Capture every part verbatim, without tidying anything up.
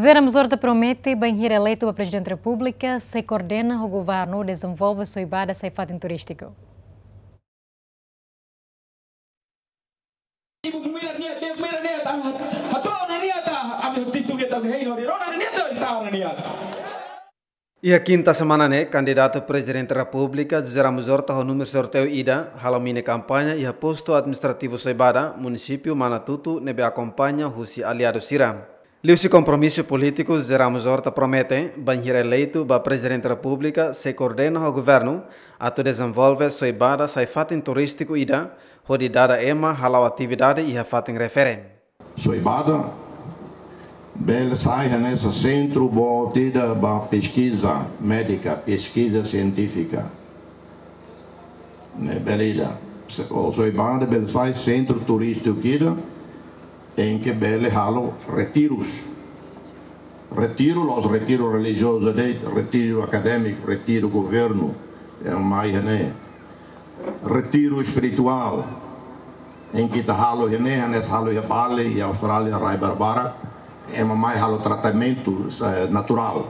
José Ramos Horta promete, bainhira eleitu ba Prezidente Repúblika, sei koordena ho governu dezenvolve Soibada sai fatin turístiku. Ibu mira nia, dia mira nia, ta, hato'o ona nia ta, ami titu nia ta, hei no, rona nia ta, ta ona nia. Iha kinta semana ne'e, kandidatu Prezidente Repúblika, José Ramos Horta, ho númeru sorteiu ida, halo mini kampaña iha postu administrativu Soibada, munisípiu Manatuto, ne'ebé akompaña husi aliadu sira. Liuhusi kompromisu polítiku, José Ramos Horta promete, bainhira eleitu ba Prezidente Repúblika, sei koordena ho governu, atu dezenvolve Soibada sai fatin turístiku ida, hodi dada ema hala'o atividade iha fatin refere. Soibada bele sai hanesan sentru boot ida ba peskiza médika, peskiza sientífika. Ne'e bele ida. Se, o Soibada bele sai sentru turístiku ida, em que bele halo retirus. Retiru, la'ós retiru relijiozu de'it, retiru akadémiku, retiru governu, ema mai iha ne'e. Retiru espirituál, em que ita halo iha ne'e, hanesan halo iha Bali, iha Austrália, rai barbarak, ema mai halo tratamentu, eh, naturál.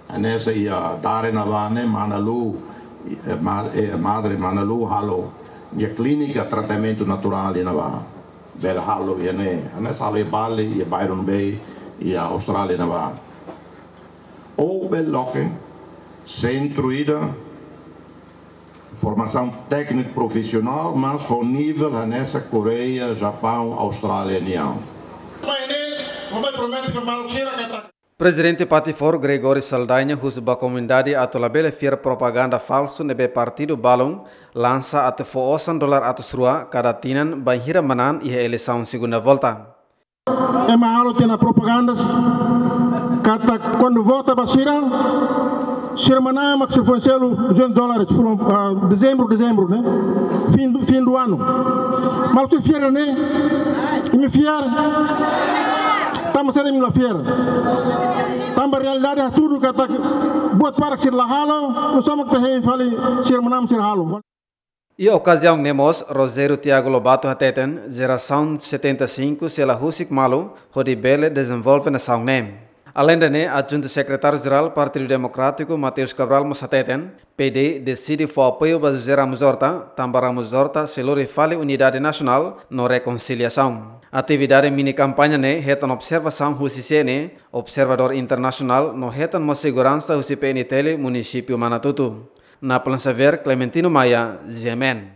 Hanesan iha Dare ne'ebá ne'e, Mana Lu, eh, ma-, eh, Madre Mana Lu halo nia klínika tratamentu naturál iha ne'ebá. Bele halo iha ne'e, hanesan halo iha Bali, iha Byron Bay, iha Austrália ne'ebá. Ou bele loke sentru ida formasaun tékniku profisionál, mas ho nivel hanesan Koreia, Japaun, Austrália nian. Mai ne'e, mamai promete ba maluk sira katak Prezidente Patifor Gregório Saldanha husu ba komunidade atu labele fiar propaganda falsu ne'ebé partidu balun lansa atu fó osan dolar atus rua kada tinan bainhira manán iha eleisaun segunda volta. Ema halo tiha ona propagandas katak kuandu vota ba sira, sira manán mak sira fó selu duzentus dólares, fulan, ah, dezembru, dezembru, ne'e? Fim do, fim do ano. Maluk sira fiar ne'e? Imi fiar? Tanba saida imi la fiar? Tanba realidade hatudu katak buat barak sira la halo, no só mak ita hein fali sira manán sira halo. Iha okaziaun ne'e mós, Rogério Tiago Lobato hateten, jerasaun setenta e cinco sei la husik malu, hodi bele dezenvolve nasaun ne'e. Aleinde ne'e, Adjuntu Sekretáriu Jerál Partidu Demokrátiku, Mateus Cabral mós hateten, P D deside fó apoiu ba José Ramos Horta, tanba Ramos Horta sei lori fali unidade nasionál no rekonsiliasaun. Atividade mini kampaña ne'e hetan observasaun husi C N E, observadór internasionál no hetan mós seguransa husi P N T L munisípiu Manatuto. Napoleon Xavier, Clementino Maia, G M N.